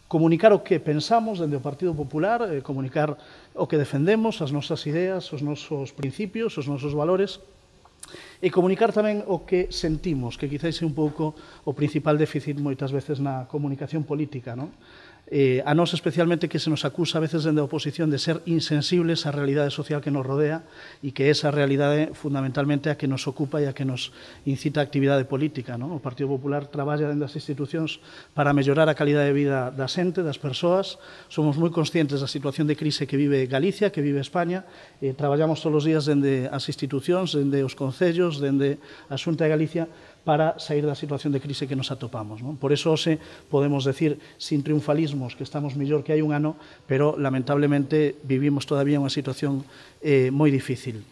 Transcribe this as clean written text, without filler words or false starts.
comunicar o que pensamos dende o Partido Popular, comunicar o que defendemos, as nosas ideas, os nosos principios, os nosos valores, e comunicar tamén o que sentimos, que quizás é un pouco o principal déficit moitas veces na comunicación política, non? A nós especialmente que se nos acusa a veces dende a oposición de ser insensibles á realidade social que nos rodea e que esa realidade fundamentalmente a que nos ocupa e a que nos incita a actividade política, non? O Partido Popular traballa dende as institucións para mellorar a calidade de vida da xente, das persoas. Somos moi conscientes da situación de crise que vive Galicia, que vive España. Traballamos todos os días dende as institucións, dende os concellos, dende a Xunta de Galicia, para sair da situación de crise que nos atopamos, non? Por eso, hoxe, podemos decir, sin triunfalismos, que estamos mellor que hai un ano, pero, lamentablemente, vivimos todavía unha situación moi difícil.